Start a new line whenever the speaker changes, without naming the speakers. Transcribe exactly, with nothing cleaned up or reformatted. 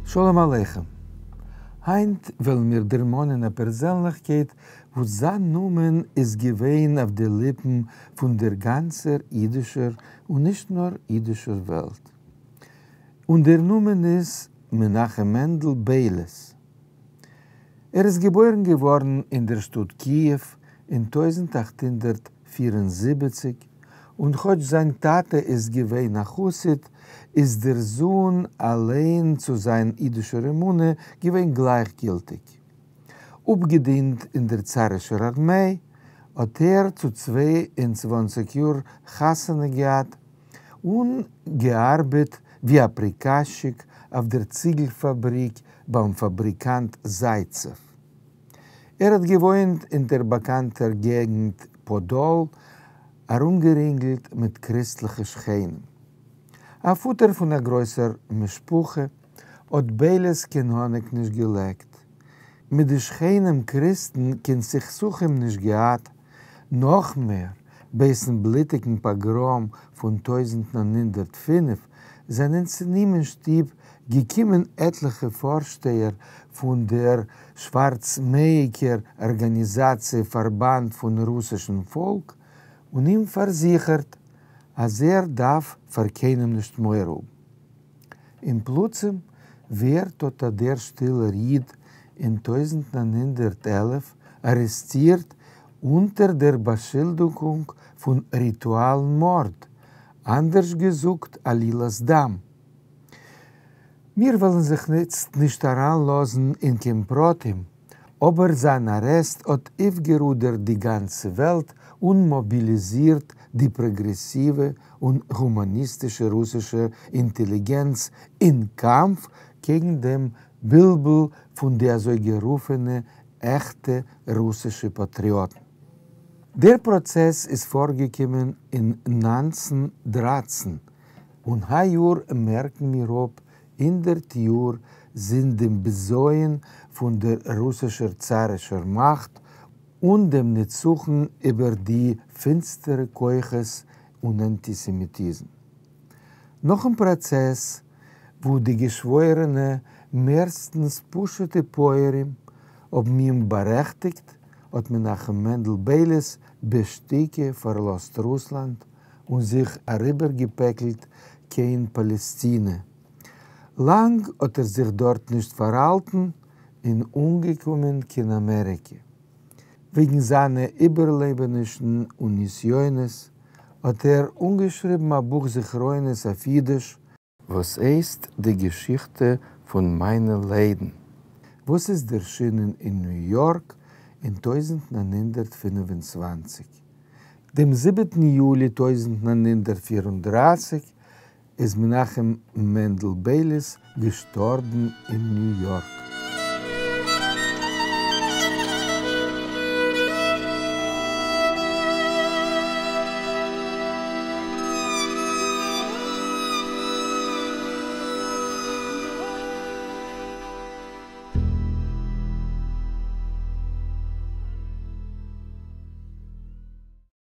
שלום עליכם. הײַנט וועלן מיר דערמאָנען אַ פּערזענלעכקייט, וואָס זײַן נאָמען איז געווען אויף די ליפּן פֿון דער גאַנצער ייִדישער און נישט נאָר ייִדישער וועלט. און דער נאָמען איז מנחם מענדל בייליס. ער איז געבוירן געוואָרן אין דער שטאָט קיִעוו אין טויזנט אַכט הונדערט פֿיר און זיבעציק, און כאָטש זײַן טאַטע איז געווען אַ חסיד, איז דער זון אַליין צו זײַן ייִדישער אמונה געווען גלײַכגילטיק. אָפּגעדינט אין דער צאַרישער אַרמיי, האָט ער צו צוויי און צוואַנציק יאָר חתונה געהאַט און געאַרבעט ווי אַ פּריקאַזטשיק אויף דער ציגל-פֿאַבריק בײַם פֿאַבריקאַנט זייצעוו. ער האָט געוואוינט אין דער באַקאַנטער געגנט פּאָדאָל, אַרומגערינגלט מיט קריסטלעכע שכנים. אַ פֿאָטער פֿון אַ גרויסער משפּחה, האָט בייליס קיין האָניק נישט געלעקט. מיט די שכנים קריסטן קיין סכסוכים נישט געהאַט. נאָך מער, בעתן בלוטיקן פּאָגראָם פֿון טויזנט נײַן הונדערט פֿינף זענען צו אים אין שטוב געקומען עטלעכע פֿאָרשטייער פֿון דער שוואַרצמעיִקער אָרגאַניזאַציע פֿאַרבאַנד פֿון רוסישן פֿאָלק און אים פֿאַרזיכערט, אַז ער דאַרף פֿאַר קיינעם נישט מורא האָבן. און פּלוצעם ווערט אָט אַ דער שטילער ייִד אין טויזנט נײַן הונדערט עלף אַרעסטירט אונטער דער באַשולדיקונג פֿון ריטואַלן מאָרד, אַנדערש געזאָגט, עלילת דם. מיר וועלן זיך איצט נישט אַרײַנלאָזן אין קיין פּרטים, אָבער זײַן אַרעסט האָט אויפֿגערודערט די גאַנצע וועלט און מאָביליזירט די פּראָגרעסיווע און הומאַניסטישע רוסישע אינטעליגענץ אין קאַמף קעגן דעם בלבול פֿון די אַזוי גערופֿענע עכטע רוסישע פּאַטריאָטן. דער פּראָצעס איז פֿאָרגעקומען אין נײַנצן דרײַצן, און הײַיאָר מערקן מיר אָפּ הונדערט יאָר זינט דעם בזיון פֿון דער רוסישער צאַרישער מאַכט און דעם נצחון איבער די פֿינצטערע כּוחות און אַנטיסעמיטיזם. נאָכן פּראָצעס, וווּ די געשוואוירענע, מערסטנס פּשוטע פּויערים, האָבן אים באַרעכטיקט, האָט מנחם מענדל בייליס בשתּיקה פֿאַרלאָזט רוסלאַנד און זיך אַריבערגעפּעקלט קיין פּאַלעסטינע. לאַנג האָט ער זיך דאָרט נישט פֿאַרהאַלטן און אָנגעקומען קיין אַמעריקע. וועגן זײַנע איבערלעבענישן און נסיונות האָט ער אָנגעשריבן אַ בוך זכרונות אויף ייִדיש, וואָס הייסט די געשיכטע פֿון מײַנע ליידן, וואָס איז דערשינען אין ניו-יאָרק אין טויזנט נײַן הונדערט פֿינף און צוואַנציק. דעם זיבעטן יולי טויזנט נײַן הונדערט פֿיר און דרײַסיק איז מנחם מענדל בייליס געשטאָרבן אין ניו-יאָרק.